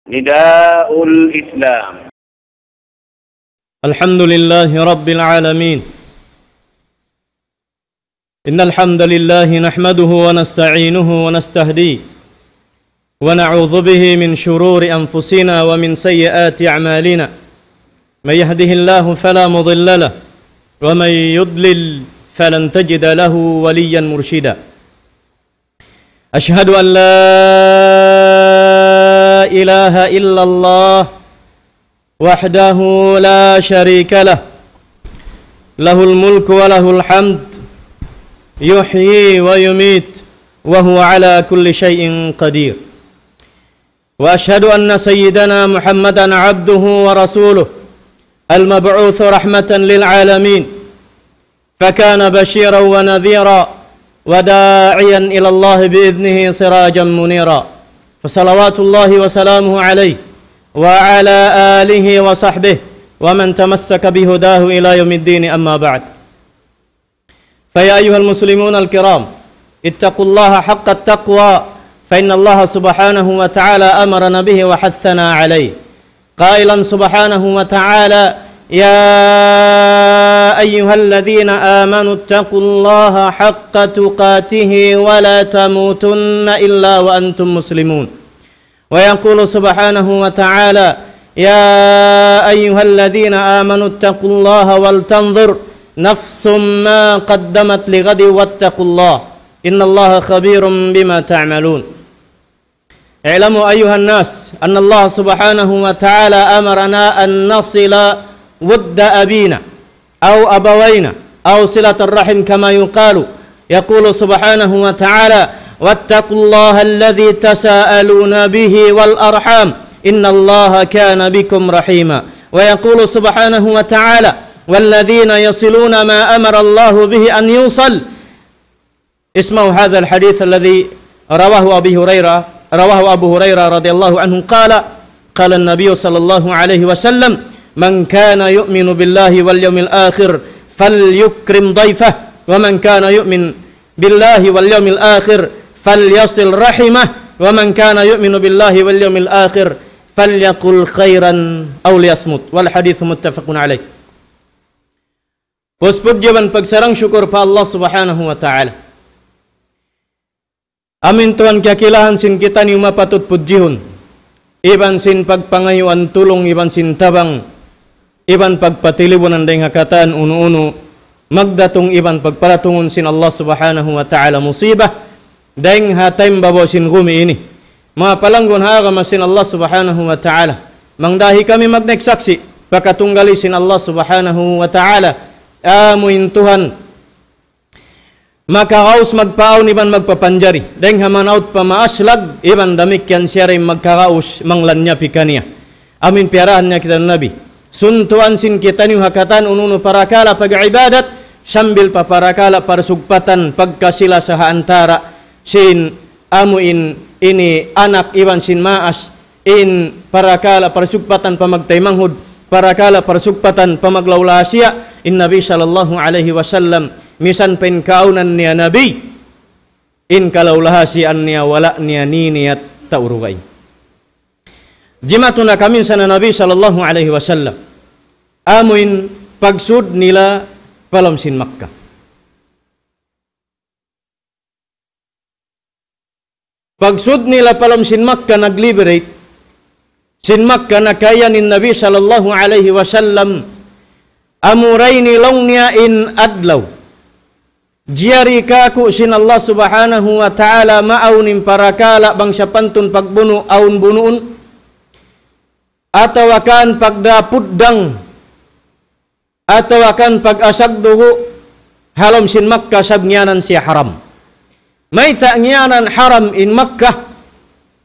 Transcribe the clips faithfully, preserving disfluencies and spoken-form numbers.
نداء الإسلام. الحمد لله رب العالمين. إن الحمد لله نحمده ونستعينه ونستهديه، ونعوذ به من شرور أنفسنا ومن سيئات أعمالنا. من يهده الله فلا مضل له، ومن يضلل فلن تجد له وليا مرشدا. أشهد أن لا إله إلا الله وحده لا شريك له، له الملك وله الحمد، يحيي ويميت، وهو على كل شيء قدير. وأشهد أن سيدنا محمدا عبده ورسوله، المبعوث رحمة للعالمين، فكان بشيرا ونذيرا وداعيا إلى الله بإذنه سراجا منيرا. فصلوات الله وسلامه عليه وعلى آله وصحبه ومن تمسك بهداه إلى يوم الدين، أما بعد. فيا أيها المسلمون الكرام، اتقوا الله حق التقوى، فإن الله سبحانه وتعالى أمرنا به وحثنا عليه، قائلا سبحانه وتعالى: يا أيها الذين آمنوا اتقوا الله حق تقاته ولا تموتن إلا وأنتم مسلمون. ويقول سبحانه وتعالى: يا أيها الذين آمنوا اتقوا الله ولتنظر نفس ما قدمت لغد واتقوا الله إن الله خبير بما تعملون. اعلموا أيها الناس أن الله سبحانه وتعالى أمرنا أن نصل ود أبينا أو أبوينا أو صلة الرحم كما يقال. يقول سبحانه وتعالى: واتقوا الله الذي تساءلون به والأرحام إن الله كان بكم رحيما. ويقول سبحانه وتعالى: والذين يصلون ما أمر الله به أن يوصل. اسمعوا هذا الحديث الذي رواه أبي هريرة، رواه أبو هريرة رضي الله عنه قال: قال النبي صلى الله عليه وسلم: من كان يؤمن بالله واليوم الآخر فليكرم ضيفه، ومن كان يؤمن بالله واليوم الآخر فليصل رحمه، ومن كان يؤمن بالله واليوم الآخر فليقل خيرا أو ليصمت. والحديث متفق عليه. Puspud iban pagsarang-sukul pa Allah Subhanahu wa Ta'ala. Amu in Tuhan kakilahan sin kitaniyu mapatut pudjihun, iban sin pagpangayuan tulung, iban sin tabang, iban pagpatilibunan dayng ha katan unu-unu magdatung iban pagparatungun sin Allah Subhanahu wa Ta'ala musibah dayng ha taymanghud sin gumi ini. Manga palanggun ha agama sin Allah Subhanahu wa Ta'ala, mangdahi kami magnaik saksi' pa katunggali sin Allah Subhanahu wa Ta'ala, amu in Tuhan makaraus magpaawn iban magpapanjari dayng ha manaut pa maaslag, iban damikkiyan siya da in makaraus manglanyap kaniya. Amu in piyarahan niya kita Nabi. Suntuan sin kitaniyu ha katan unu-unu parakala' pag-ibadat, sambil pa parakala' parsugpatan pagkasi-lasa ha antara' sin amu in ini anak iban sin maas, in parakala' parsugpatan pa magtaymanghud, parakala' parsugpatan pa maglaulahasiya, in Nabi sallallahu alayhi wasallam, misan pa in kaawnan niya Nabi, in kalaulahasiyaan niya wala' niya niniyat taurugai. Jimatu na kaminsan na Nabi sallallahu alayhi wasallam, amu in pagsud nila pa lawm sin Makkah. Pagsud nila pa lawm sin Makkah, nag-liberate sin Makkah, nakaiyan in Nabi sallallahu alayhi wasallam, amura ini laung niya in adlaw jiyari kāku' sin Allah Subhanahu wa Ta'ala maawn in parakala' bang sapantun pagbunu' awn bunuun, atawa kan pagdapuddang, atawa kan pag-asag dugu' ha lawm sin Makkah, sabab ngiyanan siya haram. Mayta' ngiyanan haram in Makkah?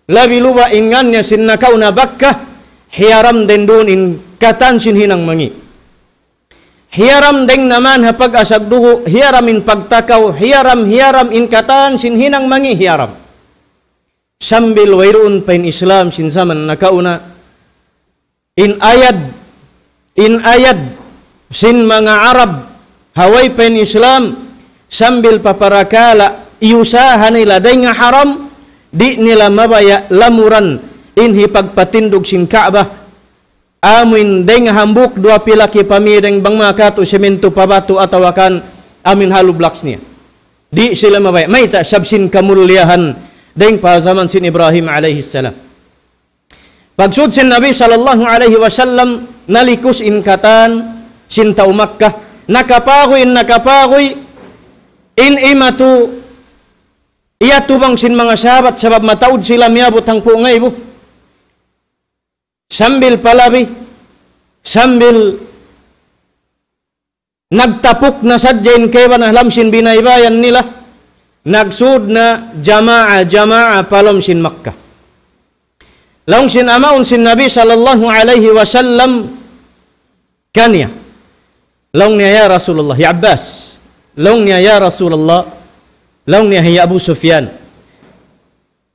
Labi luba' in ngan niya sin nakauna Bakkah, hiyaram dayng duun in katan sin hinang mangi'. Hiyaram dayng naman ha pag-asag dugu', hiyaram in pagtakaw, hiyaram, hiyaram in katan sin hinang mangi', hiyaram. Sambil wayruun pa in Islam sin jaman nakauna, in ayad, in ayad sin manga Arab ha way pa in Islam, sambil pa parakala' iyusaha nila dayng ha haram, di' nila mabaya' lamuran in hipagpatindug sin Ka'bah, amuin dayng hambuuk duwa pilaki pa mīdang bang makatu simintu pa batu atawa kan amuin hollow blocks niya. Di' sila mabaya'. Mayta'? Sabab sin kamulliyahan dayng pa jaman sin Ibrahim alayhi salam. Pagsud sin Nabi sallallahu alayhi wasallam, nalikus in katan sin tau Makkah, nakapaguy in nakapaguy in imatu, iyatubang sin manga sahabat, sabab mataud sila miyabut hangpu' ngaibu. Sambil palabi, sambil nagtapuk na sadja in kaibanan ha lawm sin binaybayan nila, nagsud na jamaa-jamaa pa lawm sin Makkah. Laung sin amaun sin Nabi sallallahu alayhi wasallam kaniya. Laung niya, "Ya Rasulullah, ya Abbas." Laung niya, "Ya Rasulullah." Laung niya, "Hi Abu Sufyan,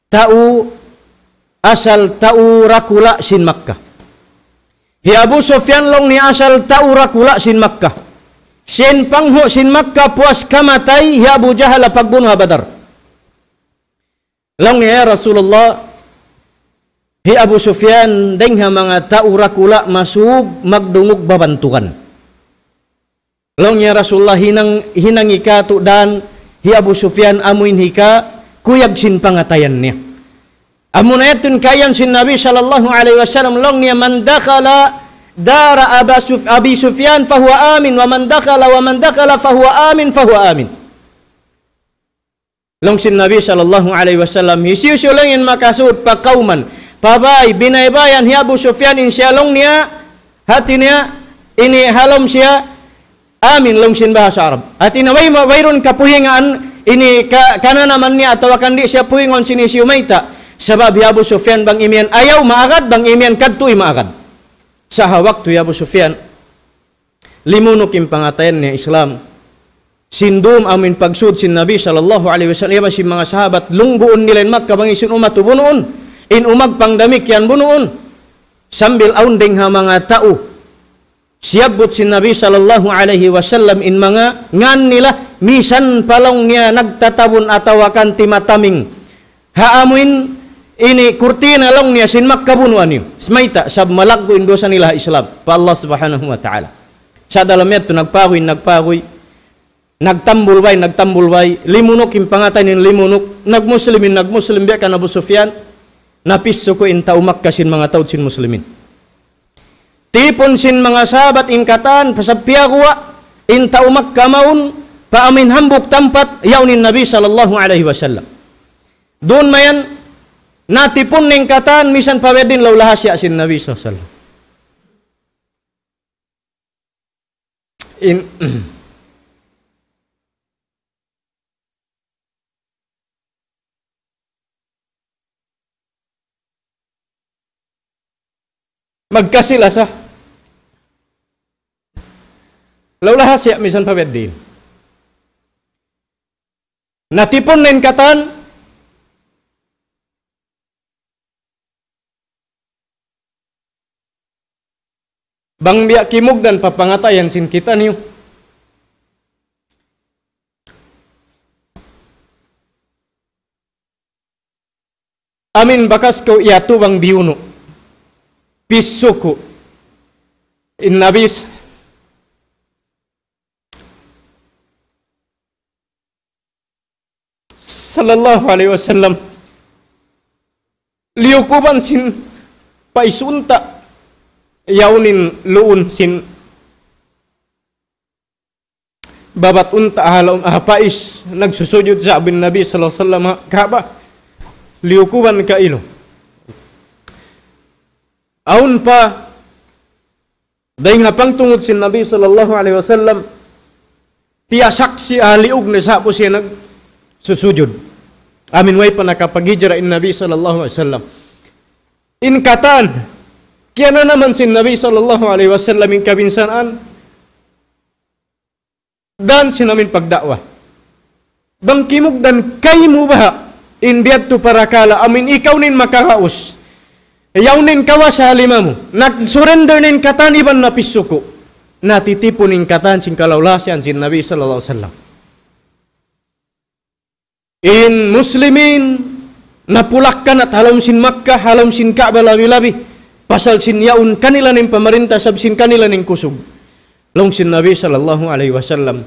tau asal tau dakula' sin Makkah. Hi Abu Sufyan," laung niya, "asal tau dakula' sin Makkah. Sin panghu' sin Makkah puas kamatay hi Abu Jahal ha pagbunu' ha Badar." Laung niya, "Ya Rasulullah, hi Abu Sufyan dayng ha manga tau dakula' masub magdungug babantugan." Laung niya, "Rasulullah, hinang, hinang hikatu' dan hi Abu Sufyan amuin hikakuyag sin pangatayan niya." Amuna yadtu in kayan sin Nabi sallallahu alayhi wasallam, laung niya, "من دخل دار أبا سف-، أبي سفيان فهو آمن، ومن دخل، ومن دخل فهو آمن، فهو آمن." Laung sin Nabi sallallahu alayhi wasallam, "Hisiyu-siyu laung in makasud pa kawman, pa bāy, binaybayan hi Abu Sufyan, in siya," laung niya, "hāti niya, ini ha lawm siya, amin," laung sin bahasa Arab. Hāti niya, way ma-, wayruun kapuhingan, ini ka-, kananaman niya atawa kan di' siya puhingun sin hisiyu, mayta'. Sabab hi Abu Sufyan bang imiyan ayaw maagad, bang imiyan kadtu maagad. Sa' ha waktu hi Abu Sufyan, limunuk in pangatayan niya Islam. Sin dum amuin pagsud sin Nabi sallallahu alayhi wasallam, iban sin manga sahabat, lungbuun nila in Makkah bang hisiyu in umatu bunuun, in umagpang damikkiyan bunuun. Sambil awn dayng ha manga tau siyabbut sin Nabi sallallahu alayhi wasallam in manga ngan nila, misan pa laung niya nagtatabun atawa kan timataming ha amuin ini kurtina laung niya sin Makkah bunuan niyu. Mayta'? Sabab malaggu' in dusa nila ha Islam pa Allah Subhanahu wa Ta'ala. Sa' dalam yadtu nagpaguy, nagpaguy, nagtambul bay, nagtambul bay, limunuk in pangatayan niya, limunuk, nagmuslim in nagmuslim, biya' kan Abu Sufyan, napisuku' in tau Makkah sin manga taud sin muslimin. Tipun sin manga sahabat in katan, pasal piyaguwa' in tau Makkah mawn pa amuin hambuuk tampat, yaun in Nabi sallallahu alayhi wasallam. Duun mayan, natipun na in katan, misan pa biya' diin laung lahasiya sin Nabi sallallahu alayhi wasallam. In, magkasi-lasa. Laung lahasiya misan pa biya' diin. Natipun na in katan, bang biya' kimugdan pa pangatayan sin kitaniyu. Amuin bakas kaw iyatubang biyunu'. Pisuku'. In Nabi sallallahu alayhi wasallam, liyukuban sin pais unta', yaun in luun sin babat unta' ha lawm, ha pais, nagsusujud sa' bin Nabi sallallahu alayhi wasallam, ha Ka'bah, liyukuban kailu. Awn pa, dayng ha pangtungud sin Nabi sallallahu alayhi wasallam, tiyasaksi' ha liug niya sa' pu siya nagsusujud. Amuin way pa nakapaghijra in Nabi sallallahu alayhi wasallam. In katan, kiyananaman sin Nabi sallallahu alayhi wasallam in kabinsanaan, dan sin amuin pagda'wa. Bang kimugdan kaymu baha' in biya' tu parakala', amuin ikaw na in makaraus. Yaun na in kawasa ha lima mu. Nag-surrender na in katan iban napisuku'. Natitipun in katan sin kalaulasian sin Nabi sallallahu alayhi wasallam. In Muslimin, napulak kanat ha lawm sin Makkah, ha lawm sin Ka'bah labi-labi. Pasal sin yaun kanila in pamarinta, sab sin kanila in kusug. Laung sin Nabi sallallahu alayhi wasallam.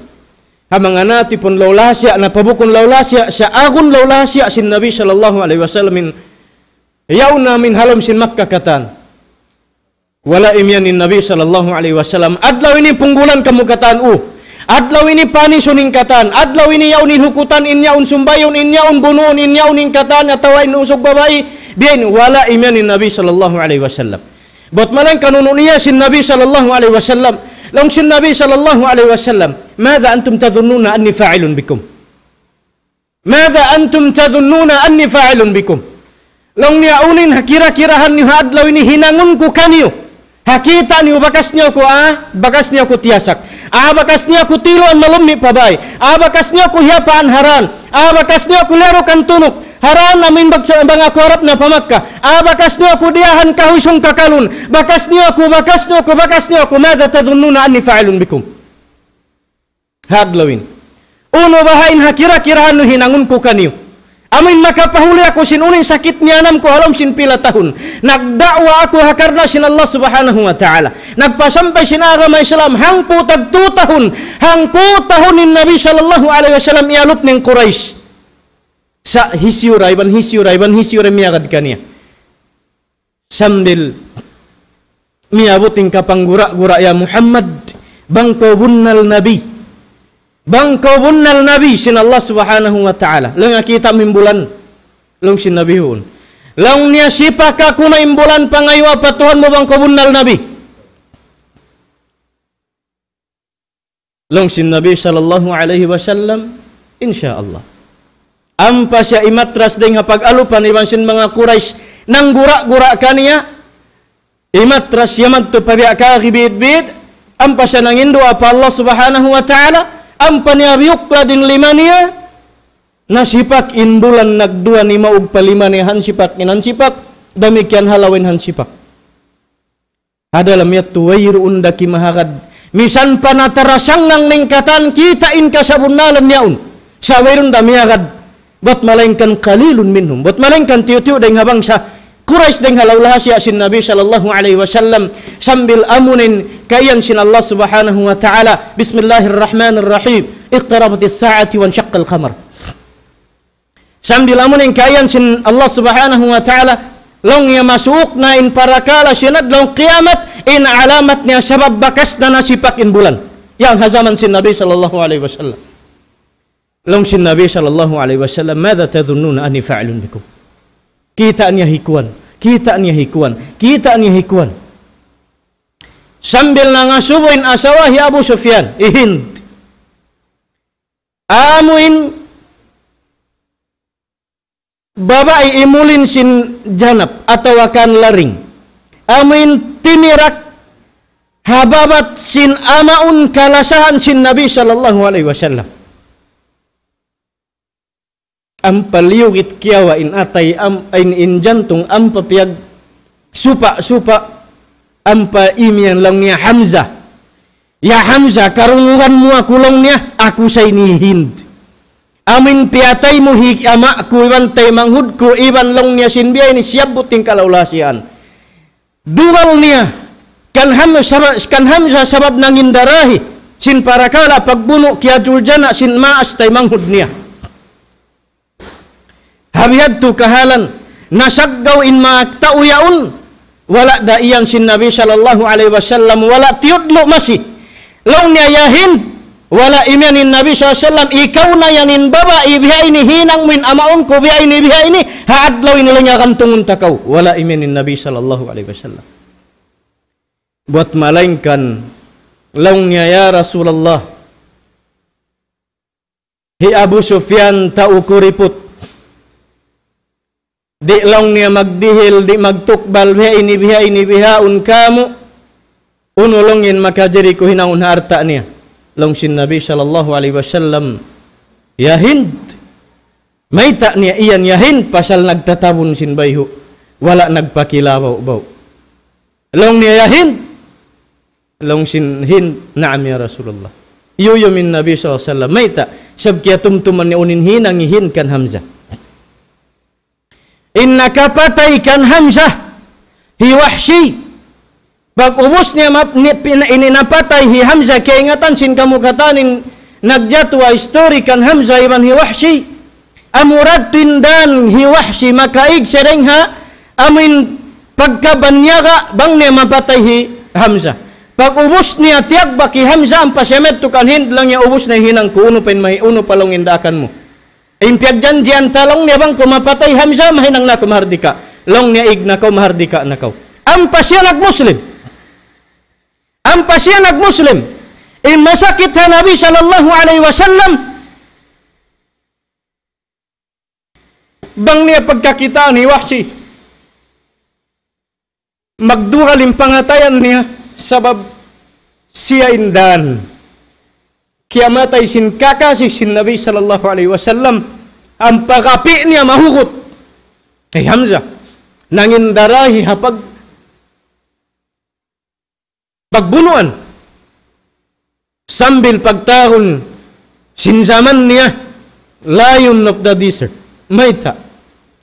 Ha manga natipun law lahasiya, napabukun law lahasiya, sa' agun law lahasiya sin Nabi sallallahu alayhi wasallam in yaun amin ha lawm sin Makkah katan. Wala' imiyan in Nabi sallallahu alayhi wasallam, adlaw ini punggulan kamu katan, u. Adlaw ini panisun in katan, adlaw ini yaun in hukutan, in yaun sumbayun, in yaun bunuun, in yaun in katan, atawa in usug babai, biya' ini, wala' imiyan in Nabi sallallahu alayhi wasallam. Bat malayngkan unu in iyan sin Nabi sallallahu alayhi wasallam. Laung sin Nabi sallallahu alayhi wasallam, ماذا أنتم تظنون أني فاعل بكم؟ ماذا أنتم تظنون أني فاعل بكم؟ Laung niya, unu in ha kira-kirahan niyu ha adlaw ini hinangun ku kaniyu. Ha kita' niyu bakas niyu aku, ah, bakas niyu aku tiyasak. Ah, bakas niyu aku tiluan malummi' pa bay. Ah, bakas niyu aku hiyapaan ha dan. Ah, bakas niyu aku liyarukan tunuk ha dan amin bang, bang aku harap na pa Makkah. Ah, bakas niyu aku diyahan kahuy sung kakalun. Bakas niyu aku, bakas niyu aku, bakas niyu aku. ماذا تظنون أني فاعل بكم؟ Ha adlaw ini. Unu baha' in ha kira-kirahan niyu hinangun ku kaniyu. Amin makapahuli aku sin unu in sakit niyanam ku ha lawm sin pila tahun. Nagda'wa aku ha karna' sin Allah Subhanahu wa Ta'ala. Nagpasampay sin agama Islam hangpu' tag tū tahun. Hangpu' tahun in Nabi sallallahu alayhi wasallam iyalup niya in Quraysh. Sa' hisiyu ra, iban hisiyu ra, iban hisiyu ra miyagad kaniya. Sambil miyabut in kapanggura-gura, "Ya Muhammad, bang kaw bunnal nabi. Bang kaw bunnal nabi sin Allah Subhanahu wa Ta'ala." Laung niya, "Kita' mu in bulan?" Laung sin Nabi, "Huun." Laung niya, "Sipak aku na in bulan, pangayuwa pa Tuhan mu bang kaw bunnal nabi." Laung sin Nabi sallallahu alayhi wasallam, "Insya Allah." Ampa siya imatras dayng ha pag-alupan iban sin manga Quraysh nanggura-gura kaniya, imatras siya madtu pa biya' kagi bidbid, ampa siya nanginduwaa pa Allah Subhanahu wa Ta'ala, ampa niya biyuklad in lima niya, nasipak in bulan nagduwa nimaug pa lima niya hansipak, in hansipak, damikkiyan ha lawa in hansipak. Ha dalam yadtu wayruun da kimahagad. Misan pa natarasangngag in katan kita' in kasabunnalan yaun. Sa' wayruun da miyagad. Bat malayngkan قليل منهم. Bat malayngkan tiyu'-tiyu' dayng ha bangsa Quraysh dayng ha law lahasiya sin Nabi sallallahu alayhi wasallam sambil amuin kaiyan sin Allah Subhanahu wa Ta'ala. بسم الله الرحمن الرحيم. اقتربت الساعة وانشق القمر. Sambil amuin kaiyan sin Allah Subhanahu wa Ta'ala, laung niya masuuk na in parakala' sin adlaw kiyamat, in alamat niya sabab bakas na nasipak in bulan. Yan ha jaman sin Nabi sallallahu alayhi wasallam. Laung sin Nabi sallallahu alayhi wasallam, ماذا تظنون أني فاعل بكم؟ Kita' niya hi kuwan, kita' niya hi kuwan, kita' niya hi kuwan. Sambil nangasubu in asawa hi Abu Sufyan, hi Hind. Amuin babai imulin sin janap atawa kan laring. Amuin tinirak ha babat sin amaun kalasahan sin Nabi sallallahu alayhi wasallam. Ampa liyugit kiyawa' in atay, am-, in, in jantung, ampa piyagsupa-supa, ampa imiyan laung niya Hamzah. "Ya Hamzah, karungugan mu aku," laung niya, "aku sa ini hi Hind. Amuin piyatay mu hi ama' ku, iban taymanghud ku, iban," laung niya, "sin biya' ini siyabbut in kalaw-lahasian." Dugal niya, kan Hamzah sabab, kan Hamzah sabab nangindarahi sin parakala' pagbunu' kiyadul jana sin maas taymanghud niya. Ha bihadtu kahalan, nasaggaw in manga tau yaun, wala' da iyan sin Nabi sallallahu alayhi wasallam, wala' tiyudlu' masi. Laung niya, "Ya Hind, wala' imiyan in Nabi sallallahu alayhi wasallam, ikaw na yan in babai, biya' ini hinang mu in amaun ku, biya' ini, biya' ini, ha adlaw ini laung niya gantungun ta kaw." Wala' imiyan in Nabi sallallahu alayhi wasallam. Bat malayngkan, laung niya, "Ya Rasulullah, hi Abu Sufyan tau kuriput. Di'," laung niya, "magdihil, di' magtukbal, biha' ini, biha' ini, bihaun kamu. Unu," laung niya, "in makajari ku hinangun ha alta' niya?" Laung sin Nabi sallallahu alayhi wasallam, "Ya Hind, mayta' niya iyan, ya Hind, pasal nagtatabun sin bayhu', wala' nagpakilabaw-baw." Laung niya, "Ya Hind?" Laung sin Hind, "Naam ya Rasulullah." Iyuyum in Nabi sallallahu alayhi wasallam, "Mayta'?" Sabab kiyatumtuman niya unu in hinang hi Hind kan Hamzah. In nakapatay kan Hamzah, hi Wahshi. Pag-ubus niya map-, ni-, pina-, ini napatay hi Hamzah, kaingatan sin kamu katan in nagjatu ha history kan Hamzah iban hi Wahshi. Amura tuud in dan hi Wahshi makaig siya dayn ha amuin pagkabanyaga bang niya mapatay hi Hamzah. Pag-ubus niya tiyagbak hi Hamzah ampa siya madtu kan Hind, laung niya ubus na in hinang ku, unu pa in mahi-, unu pa laung in daakan mu. In piyagjanjian ta laung niya bang ku mapatay Hamzah, mahinang na aku mahardika. Laung niya ig na kaw, mahardika na kaw. Ampa siya nag-Muslim. Ampa siya nag-Muslim. In masakit ha Nabi sallallahu alayhi wasallam, bang niya pagkakitaan hi Wahshi, magdugal in pangatayan niya, sabab siya in dan kiyamatay sin kakasi sin Nabi sallallahu alayhi wasallam, ampa kapi niya mahugut hi Hamzah. Nangindara hi ha pag-, pagbunuan. Sambil pagtawagun sin jaman niya, Lion of the Desert. Mayta'?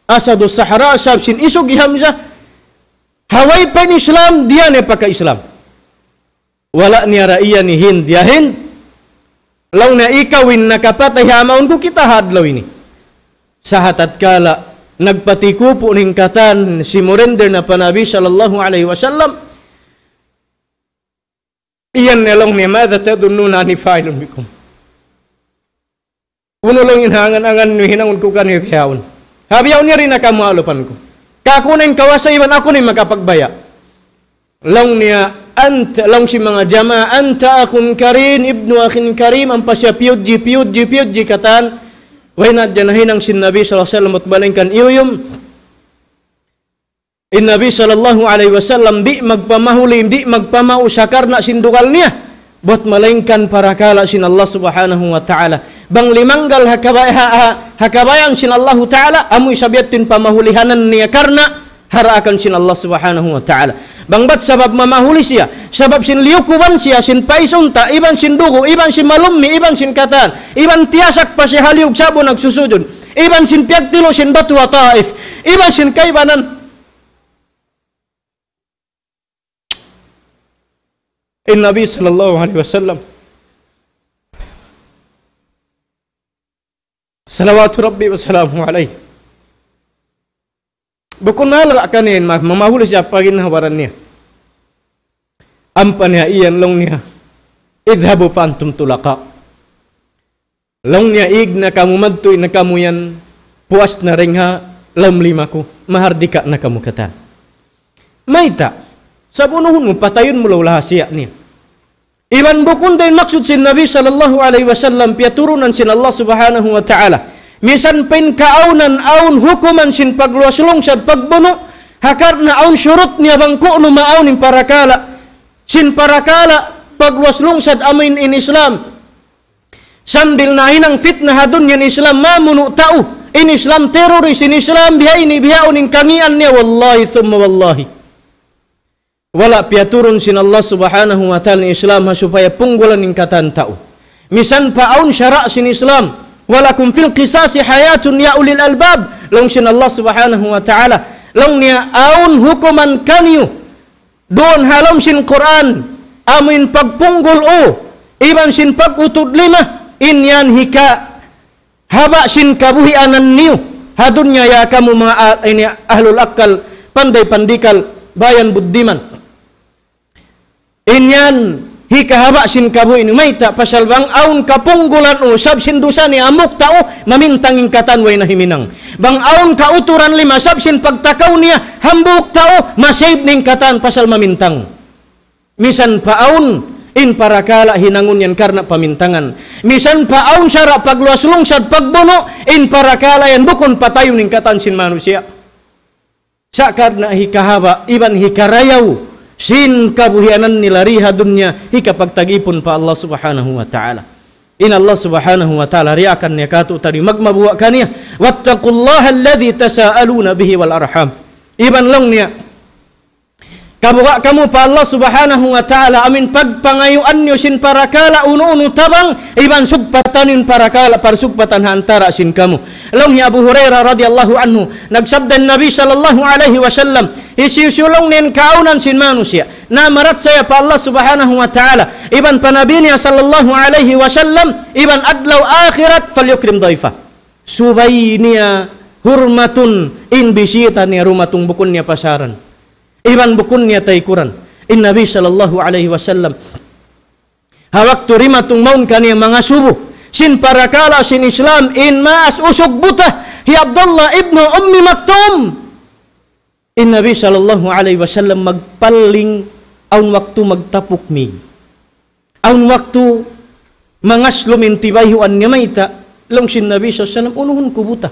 Asadu Sahara, sabab sin isug hi Hamzah. Ha way pa in Islam, di' niya pagka-Islam. Wala' niya ra iyan hi Hind, "Ya Hind, laung niya ikaw in nakapatay ha mawn ku kita ha adlaw ini." Sa' ha tatkala nagpatikupu' in katan, simurender na pa Nabi sallallahu alayhi wasallam, iyan na laung niya, "ماذا تظنون أني فاعل بكم؟" Unu laung in hangan-angan niyu hinangun ku kaniyu bihaun? Ha bihaun yari na kamu alupan ku. Kaku' na in kawasa iban aku na in makapagbaya'. Laung niya, ant-, laung sin manga jamaa, "أنت أخ كريم، ابن أخ كريم," ampa siya piyudji, piyudji, piyudji katan. Way na hadja nahinang sin Nabi sallallahu alayhi wasallam, bat malayngkan iyuyum. In Nabi sallallahu alayhi wasallam di' magpamahuli, di' magpamausa karna' sin dugal niya. Bat malayngkan parakala' sin Allah subhanahu wa ta'ala. Bang limanggal ha kabay-, ha, ha, ha kabayaan sin Allahu ta'ala, amu isab yadtu in pamahulihanan niya karna' ha daakan sin Allah subhanahu wa ta'ala. Bang bat sabab mamahuli siya, sabab sin liyukuban siya, sin paisunta, iban sin dugu', iban sin malummi, iban sin katan, iban tiyasak pa siya ha liyug sa'bu nagsusujud, iban sin piyagtilu' sin batu ha Taif, iban sin kaibanan. In Nabi sallallahu alayhi wasallam, salawatu Rabbi wa salamuhu alayhi, bukun na laung kaniya, ma-, mamahuli siya pa ginhawa-baran niya. Ampa niya iyan laung niya, "اذهبوا فأنتم طلقاء." Laung niya, "Ig na kamu, madtu na kamu yan, puas na dayn ha lawm lima ku, mahardika na kamu katan." Mayta'? Sabab unu-unu, patayun mu laung niya siya niya. Iban bukun da in maksud sin Nabi sallallahu alayhi wasallam, piyaturunan sin Allah subhanahu wa ta'ala. Misan pa in kaawnan awn hukuman sin pagluwas lungsad, pagbunu', ha karna' awn shurut niya bang ku'nu maawn in parakala', sin parakala' pagluwas lungsad amu in, in Islam. Sambil nahinang fitna ha dunya in Islam, mamunu' tau. In Islam terrorist, in Islam bihaini, bihaun in kangīan niya, wallahi thumma wallahi. Wala' piyaturun sin Allah subhanahu wa ta'ala in Islam ha supaya punggulan in katan tau. Misan pa awn sara' sin Islam, ولكم في القصاص حياة يا أولي الألباب. Laung sin Allah subhanahu wa ta'ala. Laung niya awn hukuman kaniyu duun ha lawm sin Qur'an, amu in pagpunggul u, iban sin pag-utud lima, in yan hikahaba' sin kabuhianan niyu ha dunya, ya kamu manga a-, ini ahlul akkal, panday pandikal, bayan buddiman. In yan hikahaba' sin kabuhi' niyu, mayta', pasal bang awn kapunggulan u, sabab sin dusa niya, hambuuk tau, mamintang in katan way na himinang. Bang awn kauturan lima, sabab sin pagtakaw niya, hambuuk tau, ma-save in katan pasal mamintang. Misan pa awn in parakala' hinangun yan karna' pamintangan. Misan pa awn sara' pagluwas lungsad, pagbunu', in parakala' yan bukun patayun in katan sin manusiya'. Sa' karna' hikahaba' iban hikarayaw sin kabuhianan nila di ha dunya, hikapagtag-ipun pa Allah subhanahu wa ta'ala. In Allah subhanahu wa ta'ala, diyaakan niya kātu'niyu, magmabuga' kaniya. واتقوا الله الذي تساءلون به والأرحام. Iban laung niya, Tabuga' kamu pa Allah Subhanahu wa Ta'ala, amin pagpangayuan niyu sin parakala' unu-unu tabang, iban sugpatan in parakala' parsugpatan ha antara' sin kamu. Laung hi Abu Hurairah radiyallahu anhu, nagsabda in Nabi sallallahu alayhi wasallam, hisiyu-siyu laung niya in kaawnan sin manusiya' namarachaya pa Allah Subhanahu wa Ta'ala, iban pa Nabi niya sallallahu alayhi wasallam, iban adlaw akhirat, فليكرم ضيفه. Subay niya hurmatun in bisita niya dumatung, bukun niya pasaran. Iban bukun niya taykuran. In Nabi sallallahu alayhi wasallam, ha waktu dimatung mawn kaniya mangasubu sin parakala' sin Islam, in maas usug buta, hi Abdullah ibnu Ummi Maktum. In Nabi sallallahu alayhi wasallam magpaling, awn waktu magtapuk mig. Awn waktu mangaslum in tibayhuan niya. Mayta', laung sin Nabi sallallahu alayhi wasallam, unuhun ku buta.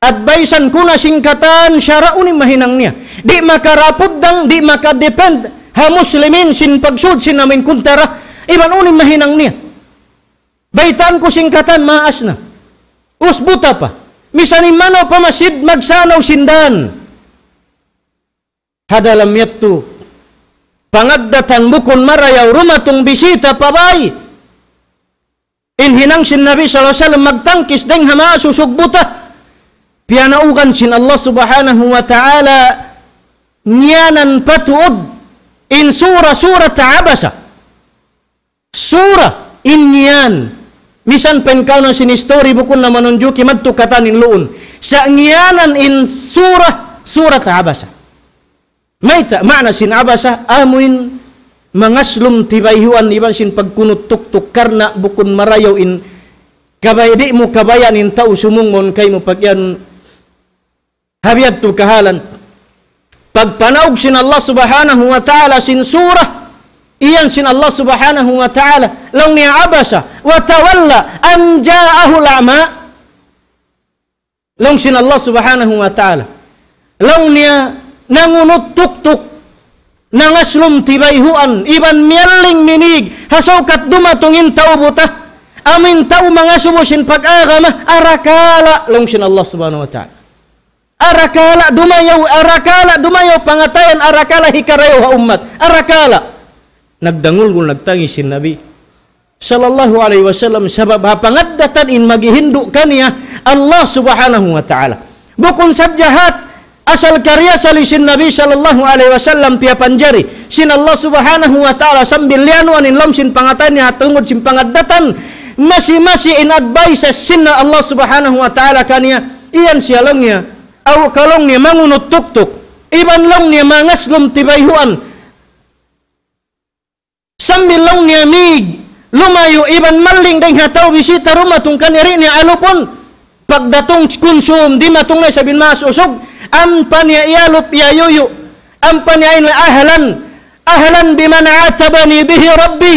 Advisean ku na sin katan sara' unu in mahinang niya. Di' makarapud dang, di' makadepend ha muslimin sin pagsud sin amin kuntara. Iban unu in mahinang niya. Baytaan ku sin katan maas na. Us buta pa. Misan in manaw pa masjid magsanaw sin dan. Ha dalam yadtu, pangaddatan bukun marayaw dumatung bisita pa bay. In hinang sin Nabi sallallahu alayhi wasallam magtangkis dayng ha maas usug buta. Piyanaugan sin Allah Subhanahu wa Ta'ala ngiyanan pa tuud in sura, Surat Abasa. Sura in ngiyan. Misan pa in kaw na sin history bukun na manunjuki madtu katan in luun. Sa' ngiyanan in sura, Surat Abasa. Mayta', maana sin Abasa, amuin mangaslum tibayhuan iban sin pagkunut tuktuk karna' bukun marayaw in kabay-, di' mu kabayaan in tau sumung mawn kaymu pag-iyanun. Ha biyadtu kahalan, pagpanaug sin Allah Subhanahu wa Ta'ala sin sura, iyan sin Allah Subhanahu wa Ta'ala, laung niya عبس وتولى أن جاءه الأعمى. Laung sin Allah Subhanahu wa Ta'ala, laung niya nangunut tuktuk, nangaslum tibayhuan, iban miyalling minig, ha saukat dumatung in tau buta, amuin tau mangasubu sin pag-agama, arakala', laung sin Allah Subhanahu wa Ta'ala. Arakala' dumayaw, arakala' dumayaw pangatayan, arakala' hikarayaw ha ummat, arakala'. Nagdangulgul, nagtangis sin Nabi sallallahu alayhi wasallam, sabab ha pangaddatan in maghihindu' kaniya Allah Subhanahu wa Ta'ala. Bukun sadja hat asal kariyasali sin Nabi sallallahu alayhi wasallam piyapanjari sin Allah Subhanahu wa Ta'ala sambil liyanuan in lawm sin pangatayan niya tungud sin pangaddatan, masi-masi in advices sin Allah Subhanahu wa Ta'ala kaniya, iyan siya laung niya, aw ka laung niya mangunut tuktuk, iban laung niya mangaslum tibayhuan. Sambil laung niya mig, lumayu' iban malling dayng ha tau bisita dumatung kaniya, di' niya alupun. Pagdatung kunsum, dimatung na isab in maas usug, ampa niya iyalup, iyayuyu'. Ampa niya in أهلا، أهلا بمن عاتبني به ربي.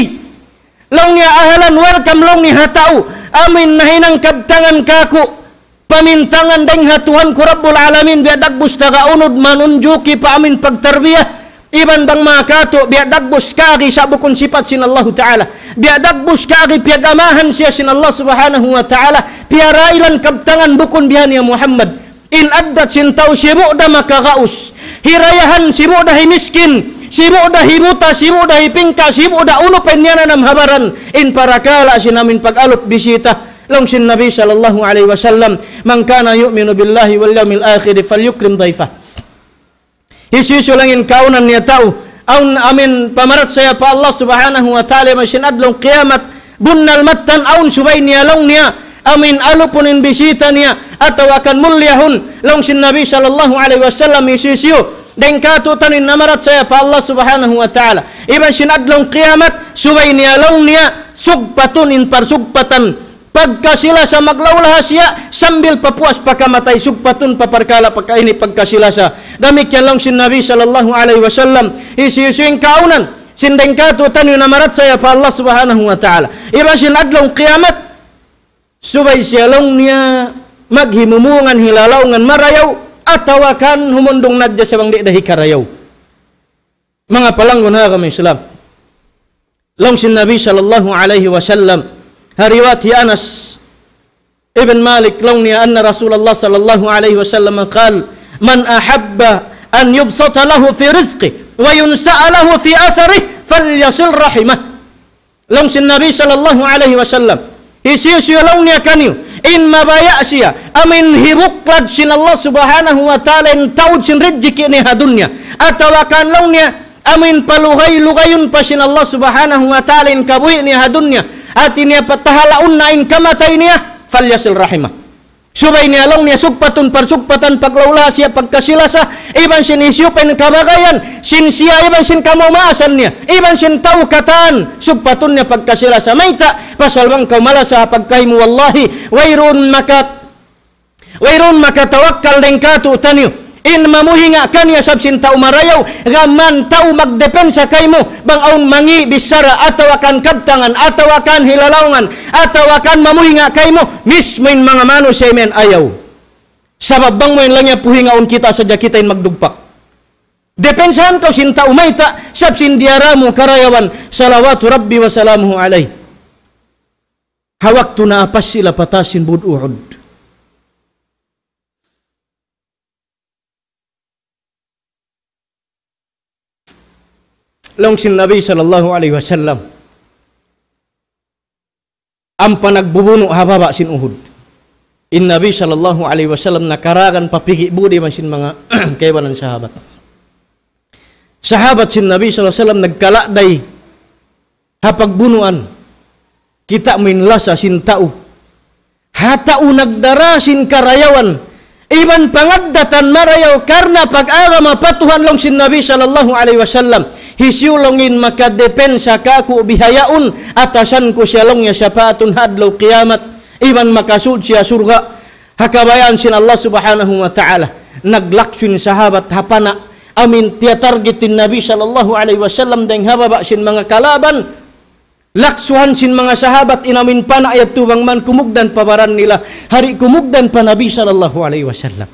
Laung niya, ahlan, welcome, laung niya, ha tau amuin nahinang kabtangan kāku'. Pamintangan dayng ha Tuhan ku Rabbul Alamin, biya' dagbus taga unud manunjuki pa amuin pagtarbiya. Iban bang makatu', biya' dagbus kari sa' bukun sipat sin Allahu Ta'ala. Biya' dagbus kari piyag-amahan siya sin Allah Subhanahu wa Ta'ala. Piyarailan kabtangan bukun bihan ya Muhammad. In addat sin tau sibu' da makagaus. Hirayahan sibu' da himiskin. Sibu' da hibuta, sibu' da hipingka, sibu' da unu pa in niyananam ha baran. In parakala' sin amuin pag-alup bisita. Laung sin Nabi sallallahu alayhi wasallam, من كان يؤمن بالله واليوم الآخر فليكرم ضيفه. Hisiyu-siyu laung in kaawnan niya tau, awn amuin pamarachaya pa Allah Subhanahu wa Ta'ala iban sin adlaw kiyamat, bunnal mattan awn subay niya laung niya, amuin alupun in bisita niya, atawa kan mulyahun, laung sin Nabi sallallahu alayhi wasallam, hisiyu-siyu dayng kātu'niyu in namarachaya pa Allah Subhanahu wa Ta'ala iban sin adlaw kiyamat, subay niya laung niya sugpatun in parsugpatan pagkasi-lasa, maglaw-laha siya sambil pa puas pa kamatay, sugpatun pa parkala' pagka ini pagkasi-lasa. Damikkiyan laung sin Nabi sallallahu alayhi wasallam, hisiyu-siyu in kaawnan sin dayng kātu'niyu namarachaya pa Allah Subhanahu wa Ta'ala iban sin adlaw kiyamat, subay siya laung niya maghimumungan, hilalaungan marayaw, atawa kan humundung na hadja sa' bang di' da hikarayaw. Manga palanggun ha agama Islam. Laung sin Nabi sallallahu alayhi wasallam, ha riwayat hi Anas ibn Malik, laung niya, أن رسول الله صلى الله عليه وسلم قال: من أحب أن يبسط له في رزقه وينسأ له في أثره فليصل رحمه. Laung sin Nabi sallallahu alayhi wasallam, hisiyu-siyu laung niya kaniyu in mabaya' siya amuin hibuklad sin Allah subhanahu wa ta'ala in taud sin rijiki' niya ha dunya, atawa kan laung niya amuin palugay-lugayun pa sin Allah subhanahu wa ta'ala in kabuhi' niya ha dunya, hati niya patahalaun na in kamatay niya, فليصل رحمه. Subay niya laung niya sugpatun parsugpatan paglaw-law siya pagkasi-lasa, iban sin hisiyu pa in kabagayan sin siya, iban sin kamaasan niya, iban sin tau katan, sugpatun niya pagkasi-lasa. Mayta'? Pasal bang kaw malasa pagkahi mu, wallahi, wayruun maka-, wayruun makatawakkal dayn kātu'niyu in mamuhinga' kaniya sabab sin tau marayaw, gām tau magdepensa kaymu, bang awn mangi' bichara, atawa kan kabtangan, atawa kan hilalaungan, atawa kan mamuhinga' kaymu, mismu in manga manusiya' imiyan ayaw. Sabab bang mu in laung niya puhingaun, kita sadja kita in magdugpak. Depensahan kaw sin tau, mayta'? Sabab sin diyara mu karayawan, صلوات ربي وسلامه عليه. Ha waktu naapas sila pa taas sin bud Uhud. Laung sin Nabi sallallahu alayhi wasallam, ampa nagbubunu' ha baba' sin Uhud. In Nabi sallallahu alayhi wasallam nakaragan pa pigi' budi iban sin manga kaibanan sahabat. Sahabat sin Nabi sallallahu alayhi wasallam nagkaladay ha pagbunuan. Kita' mu in lasa sin tau. Ha tau nagdara sin karayawan iban pangaddatan marayaw karna' pag-agama pa Tuhan, laung sin Nabi sallallahu alayhi wasallam, hisiyu laung in makadepensa kāku' bihaun, atasan ku siya laung niya sapaatun ha adlaw kiyamat, iban makasud siya surga' ha kabayaan sin Allah subhanahu wa ta'ala. Naglaksu in sahabat ha pana', amuin tiyatarget in Nabi sallallahu alayhi wasallam dayn ha baba' sin manga kalaban. Laksuhan sin manga sahabat in amuin pana' yadtu bang man kumugdan pa baran nila, di' kumugdan pa Nabi sallallahu alayhi wasallam.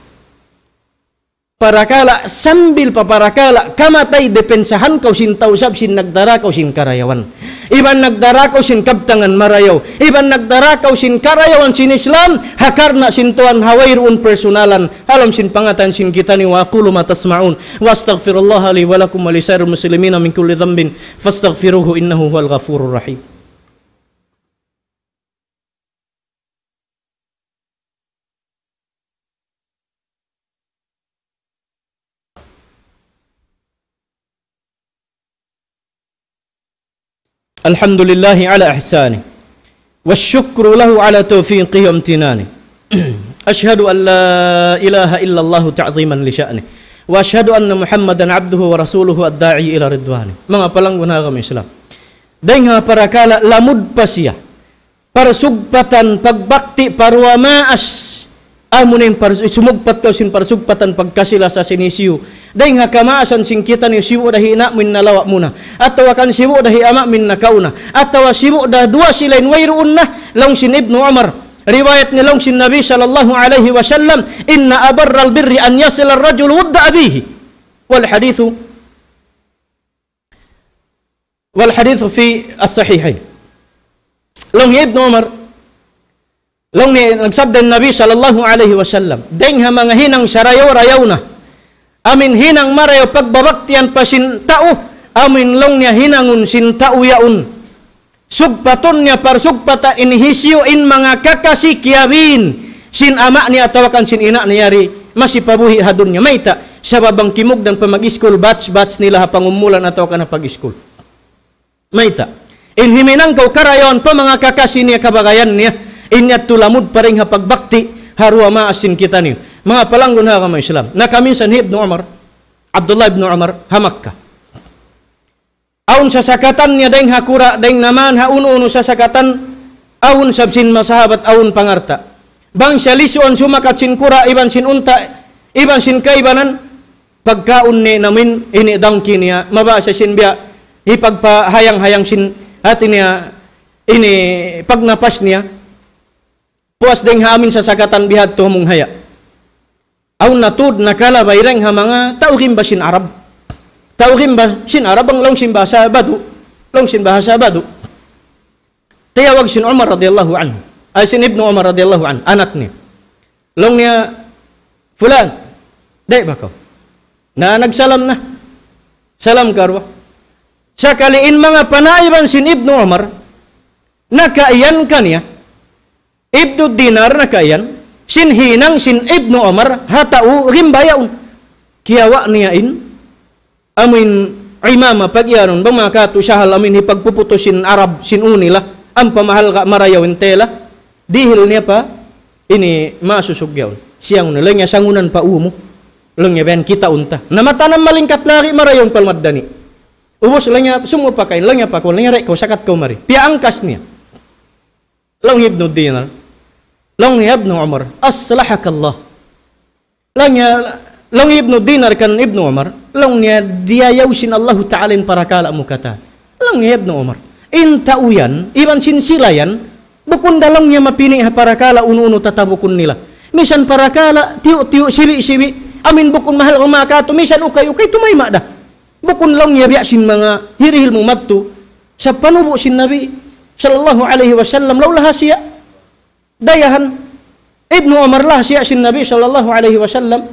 Parakala', sambil pa parakala' kamatay, depensahan kaw sin tau sabab sin nagdara kaw sin karayawan. Iban nagdara kaw sin kabtangan marayaw. Iban nagdara kaw sin karayawan sin Islam, ha karna' sin Tuhan, ha wayruun personalan. Ha lawm sin pangatayan sin kitaniyu, وأقول ما تسمعون، وأستغفر الله لي ولكم ولسائر المسلمين من كل ذنب، فاستغفروه إنه هو الغفور الرحيم. الحمد لله على إحسانه، والشكر له على توفيقه وامتنانه. أشهد أن لا إله إلا الله تعظيما لشأنه، وأشهد أن محمدا عبده ورسوله الداعي إلى رضوانه. Manga palanggun ha agama Islam, dayn ha parakala' lamud pa siya parsugpatan pagbakti pa duwa maas. Amu na in pars-, sumugpat kaw sin parsugpatan pagkasi-lasa sin hisiyu. Dayn ha kamaasan sin kitaniyu, sibu' da hi ina' mu in nalawa' mu na. Atawa kan sibu' da hi ama' mu in nakauna. Atawa sibu' da duwa sila in wayruun na, laung sin Ibnu Umar. Riwayat niya laung sin Nabi sallallahu alayhi wasallam, إن أبر البر أن يصل الرجل ود أبيه. والحديث والحديث في الصحيحين. Laung hi Ibnu Umar, laung niya nagsabda in Nabi sallallahu alayhi wasallam, dayn ha manga hinang sarayaw-rayaw na, amuin hinang marayaw pagbabaktian pa sin tau, amuin laung niya hinangun sin tau yaun. Sugpatun niya parsugpatan in hisiyu in manga kakasi kiyabin sin ama' niya atawa kan sin ina' niya yari masi pa buhi' ha dunya. Mayta'? Sabab bang kimugdan pa mag-iskul, batch-batch nila ha pangumulan atawa kan ha pag-iskul. Mayta'? In himinang kaw karayawan pa manga kakasi niya, kabagayan niya, in yadtu lamud pa dayn ha pagbakti ha duwa maas sin kitaniyu. Manga palanggun ha agama Islam. Nakaminsan hi Ibnu Umar, Abdullah ibn Umar, ha Makkah. Awn sasakatan niya dayn ha kura', dayn naman ha unu-unu sasakatan, awn sabab sin manga sahabat, awn pangalta'. Bang siya lisuun sumakat sin kura', iban sin unta', iban sin kaibanan, pagkaun niya in amuin ini dangki niya, mabaya' siya sin biya' hipagpahayang-hayang sin hati niya ini pagnapas niya. Puas dayn ha amuin sasakatan bihadtu ha munghaya. Awn na tuud nakalabay dayn ha manga tau gimba sin Arab. Tau gimba sin Arab, bang laung sin bahasa Badu. Laung sin bahasa Badu. Tiyawag sin Umar radiyallahu anhu. Ay, sin Ibnu Umar radiyallahu anhu. Anak niya. Laung niya, "Fulan, di' ba kaw?" Na nagsalam na. Salam karuwa. Sakali in manga panaiban sin Ibnu Umar, nakaiyan kaniya. Ibnu Dinar nakaiyan, sin hinang sin Ibnu Umar, ha tau rimba yaun. Kiyawa' niya in, amuin imama pag-iyanun, bang manga katu' sahal amuin hipagpuputus sin Arab, sin uni la, ampa mahalga' marayaw in tela, dihil niya pa, ini masusug yaun. Siyang unu, laung niya sangunan pa umu, laung niya biyan kita unta. Na matanam malingkat lagi' marayaw in palmaddani. Ubus laung niya, sumu pa kain, laung niya pa kaw, laung niya rek kaw, sakat kaw mari. Piyangkas niya. Laung hi Ibnu Dinar. Laung hi Ibnu Umar, "Aslahakallah." Laung niya, laung hi Ibnu Dinar kan Ibnu Umar, laung niya diyayaw sin Allahu Ta'ala in parakala' mu katan. Laung hi Ibnu Umar, in tau yan, iban sin sila yan, bukun da laung niya mapini' ha parakala' unu-unu tatabukun nila. Misan parakala', tiyu'-tiyu', sibi'-sibi', amuin bukun mahal kumakatu, misan ukay-ukay, tumayma' da. Bukun laung niya biya' sin manga hirihil mu madtu, sa panubu' sin Nabi, sallallahu alayhi wasallam, laung laha siya. Dayahan, Ibnu Umar laha siya sin Nabi, sallallahu alayhi wasallam,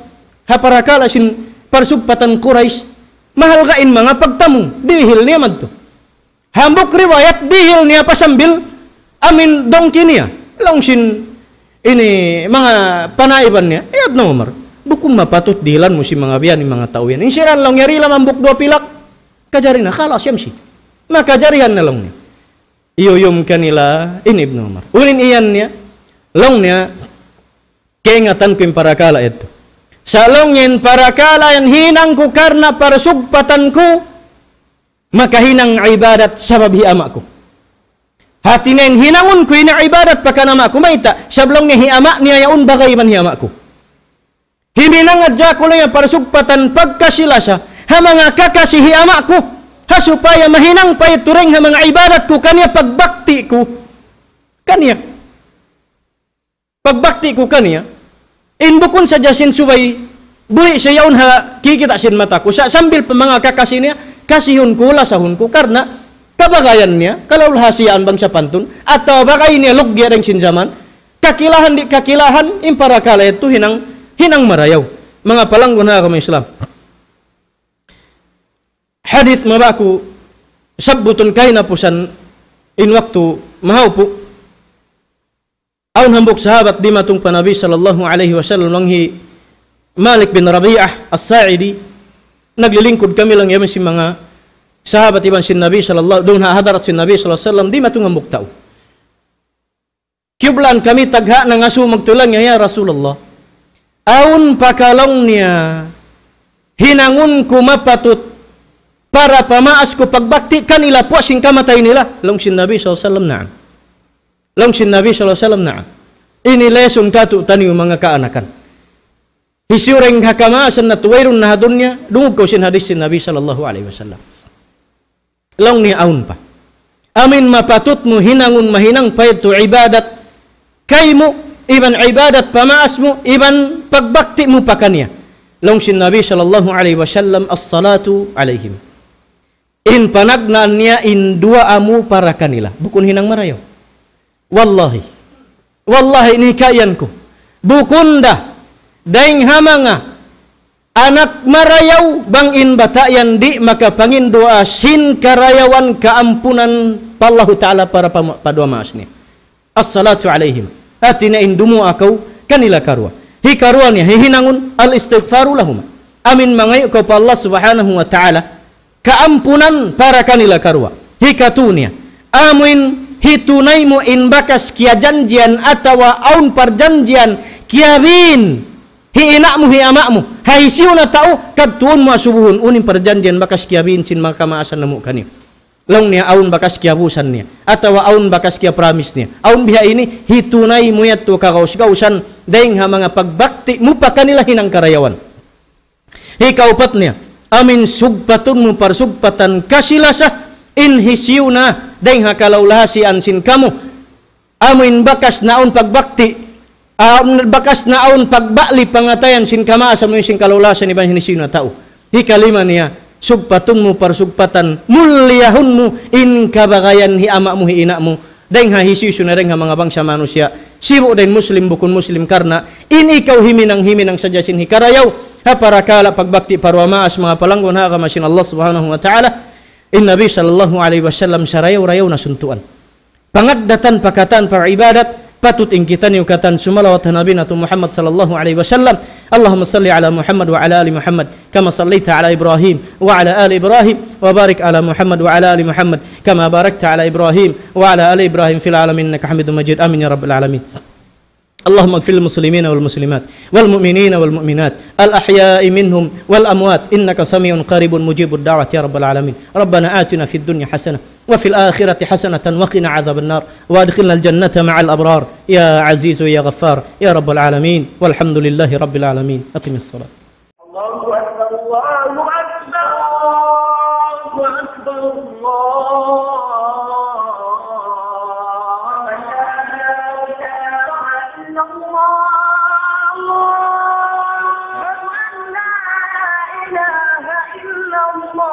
ha parakala' sin parsugpatan Quraysh, mahalga' in manga pagtamung, dihil niya madtu. Hambuuk riwayat, dihil niya pa sambil, amuin dungki niya. Laung sin, ini, manga panaiban niya, "Ya Ibnu Umar, bukun mapatut dihilan mu sin manga biya' ini manga tau yan. In siran laung niya rila hambuuk duwa pilak, kajari na, khalas, yamshi." Makajarihan na laung niya. Iyuyum kanila in Ibnu Umar. Unu in iyan niya, laung niya, kaingatan ku in parakala' yadtu. Sa' laung niya in parakala' yan hinang ku karna' parsugpatan ku, makahinang ibadat sabab hi ama' ku. Hati niya in hinangun ku ini ibadat pa kan ama' ku, mayta', sabab laung niya hi ama' niya yaun bagay iban hi ama' ku. Himinang hadja aku laung niya parsugpatan pagkasi-lasa, ha manga kakasi hi ama' ku, ha supaya mahinang pa itu dayn ha manga ibadat ku kaniya, pagbakti ku kaniya. Pagbakti ku kaniya, in bukun sadja sin subay, buhi' siya yaun ha kikita' sin mata ku. Sa' sambil pa manga kakasi niya, kasihun ku, lasahun ku, karna' kabagayan niya, kalaulhasiyaan bang sapantun, atawa bagay niya lugya dayn sin jaman, kakilahan di' kakilahan, in parakala' yadtu hinang, hinang marayaw. Manga palanggun ha agama Islam. Hadith mabaya' ku sabbutun kahinapusan in waktu mahaupu'. Awn hambuuk sahabat dimatung pa Nabi sallallahu alayhi wasallam, laung hi Malik bin Rabi'ah As-Sa'idi, naglilingkud kami laung niya sin manga sahabat iban sin Nabi sallallahu, duun ha hadarat sin Nabi sallallahu alayhi wasallam, dimatung hambuuk tau. Kiyublaan kami tagha' nangasubu magtuy laung niya, "Ya Rasulullah, awn pa ka laung niya hinangun ku mapatut para pamaas ku pagbakti kanila puas sin kamatay nila?" Laung sin Nabi sallallahu alayhi wasallam, "Na'am." Laung sin Nabi sallallahu alayhi wasallam, "Na'am." Ini lesson katu'taniyu manga kaanakan. Hisiyu dayn ha kamaasan natu' wayruun na ha dunya, dungug kaw sin hadith sin Nabi sallallahu alayhi wasallam. Laung niya awn pa. Amuin mapatut mu hinangun mahinang pa yadtu ibadat kaymu, iban ibadat pamaas mu, iban pagbakti mu pa kaniya. Laung sin Nabi sallallahu alayhi wasallam, "As-salatu alayhim." In panagnaan niya in duwaa mu para kanila. Bukun hinang marayaw. Wallahi. Wallahi, ini kaiyan ku. Bukun da, dayn ha manga anak marayaw bang in bata' yan di' makapanginduwaa sin karayawan kaampunan pa Allahu Ta'ala para pa, pa duwaa maas niya. As-salatu alayhim. Hati niya in dumuwaa kaw kanila karuwa. Hikaruwa niya, hihinangun, al-istighfaru lahuma. Amuin mangayu' kaw pa Allah Subhanahu wa Ta'ala kaampunan para kanila karuwa. Hikatu niya, amuin hitunay mu in bakas kiyajanjian atawa awn parjanjian kiyabiin hi ina' mu, hi ama' mu, ha hisiyu na tau, kadtuun mu asubuhun, unu in parjanjian bakas kiyabiin sin manga kamaasan namu' kaniyu. Laung niya awn bakas kiyabusan niya, atawa awn bakas kiyapramis niya. Awn biha ini, hitunay mu yadtu kagaus-gausan, dayng ha manga pagbakti mu pa kanila hinang karayawan. Hikaupat niya, amuin sugpatun mu parsugpatan kasi-lasa, in hisiyu na, dayng ha kalaulahasian sin kamu. Amuin bakas na awn pagbakti, amuin bakas na awn pagbali pangatayan sin kamaasan mu sin kalaulahasan iban hisiyu na tau. Hikalima niya, sugpatun mu parsugpatan, mulliyahun mu in kabagayan hi ama' mu, hi ina' mu, Dayng ha hisiyu-siyu na dayng ha manga bangsa manusiya'. Sibu' da in Muslim bukun Muslim karna' in ikaw himinang-himinang sadja sin hikarayaw ha parakala' pagbakti pa duwa maas, manga palanggun ha agama sin Allah Subhanahu wa Ta'ala. In Nabi sallallahu alayhi wasallam sarayaw-rayaw na suntuan. Pangaddatan pa katan pa ibadat, patut in kitaniyu katan sumalawat ha Nabi natu' Muhammad sallallahu alayhi wasallam. اللهم صل على محمد وعلى آل محمد كما صليت على إبراهيم وعلى آل إبراهيم وبارك على محمد وعلى آل محمد كما باركت على إبراهيم وعلى آل إبراهيم في العالمين إنك حميد مجيد. آمين يا رب العالمين. اللهم اغفر للمسلمين والمسلمات والمؤمنين والمؤمنات الأحياء منهم والأموات إنك سميع قريب مجيب الدعوات يا رب العالمين. ربنا آتنا في الدنيا حسنة وفي الآخرة حسنة وقنا عذاب النار وأدخلنا الجنة مع الأبرار يا عزيز يا غفار يا رب العالمين. والحمد لله رب العالمين. أقم الصلاة. الله أكبر، الله أكبر، الله أكبر، الله أكبر. لا إله إلا الله. أشهد أن لا إله إلا الله.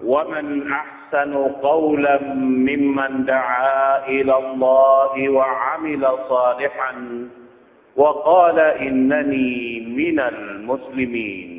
ومن أحسن قولا ممن دعا إلى الله وعمل صالحا وقال إنني من المسلمين.